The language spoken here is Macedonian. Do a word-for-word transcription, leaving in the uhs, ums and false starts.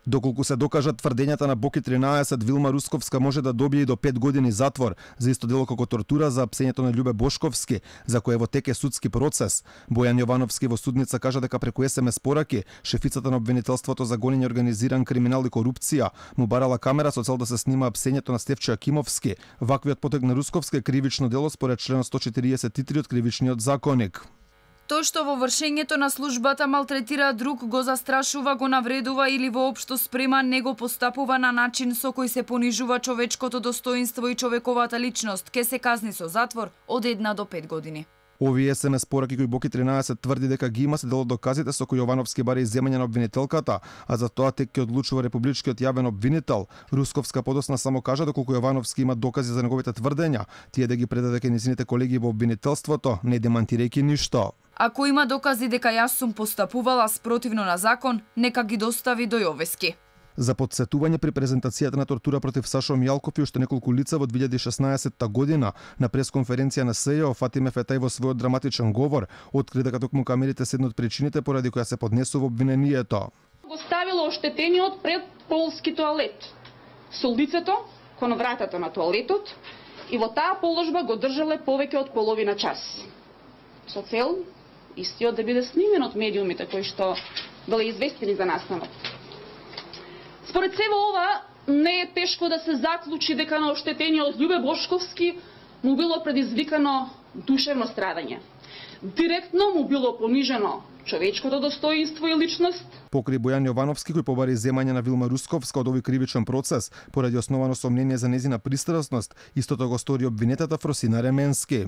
Доколку се докажат тврдењата на Боки тринаесет, Вилма Русковска може да добие и до пет години затвор за исто дело како тортура за апсењето на Љубе Бошковски, за кое во теке судски процес. Бојан Јовановски во судница кажа дека преку ес ем ес пораки шефицата на обвинителството за гонење организиран криминал и корупција му барала камера со цел да се снима апсењето на Стефчо Акимовски. Ваквиот потек на Русковска е кривично дело според член сто четиридесет и три од кривичниот законник. Тој што во вршењето на службата малтретира друг, го застрашува, го навредува или воопшто спрема, не го постапува на начин со кој се понижува човечкото достоинство и човековата личност, ке се казни со затвор од една до пет години. Овие ес ем ес пораки кои Боки тринаесет тврди дека ги има се дел од доказите со кои Јовановски бара изземање на обвинителката, а за тоа тек ќе одлучува републичкиот јавен обвинител. Русковска подосна само кажа доколку Јовановски има докази за неговите тврдења, тие да ги предаде кај низините колеги во обвинителството, не демантирајќи ништо. Ако има докази дека јас сум постапувала спротивно на закон, нека ги достави до Јовески. За потсетување при презентацијата на тортура против Сашо Мјалков и уште неколку лица во две илјади и шеснаесетта година на пресконференција на С Е О, Фатиме Фетај во својот драматичен говор откри дека токму камерите се една од причините поради која се поднесува обвинението. Го ставило оштетениот пред полски тоалет, со лицето кон вратата на тоалетот и во таа положба го држале повеќе од половина час. Со цел истиот да биде снимен од медиумите кои што биле известени за настанот. Според сево ова, не е тешко да се заклучи дека на оштетениот Љубе Бошковски му било предизвикано душевно страдање. Директно му било понижено човечкото достоинство и личност. Покри Бојан Јовановски кој побари земање на Вилма Русковска од овој кривичен процес поради основано сомнение за незина пристрасност, истото го стори обвинетата Фросина Ременски.